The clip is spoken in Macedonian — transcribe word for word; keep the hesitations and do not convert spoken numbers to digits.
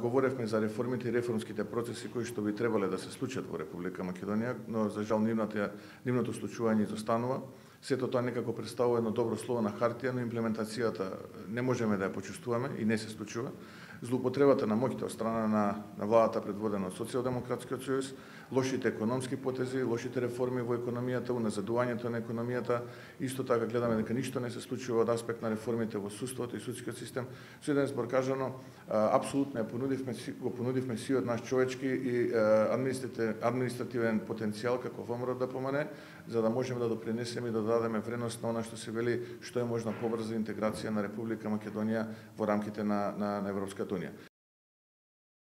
говоревме за реформите и реформските процеси кои што би требале да се случат во Република Македонија, но за жал нивната нивното случување изостанува. Сето тоа некако представува едно добро слово на хартија, но имплементацијата не можеме да ја почувствуваме и не се случува. Злоупотребата на моќта од страна на, на владата предводена од Социјалдемократскиот сојуз, лошите економски потези, лошите реформи во економијата, уназадувањето на економијата, исто така гледаме дека ништо не се случува од аспект на реформите во судството и судскиот систем. Со еден збор кажано, апсолутно ја понудивме, го понудивме сиот наш човечки и административен потенцијал како ВМРО да помане, за да можеме да допринесеме и да дадеме вредност на она што се вели што е можна побрза интеграција на Република Македонија во рамките на, на, на Европската унија.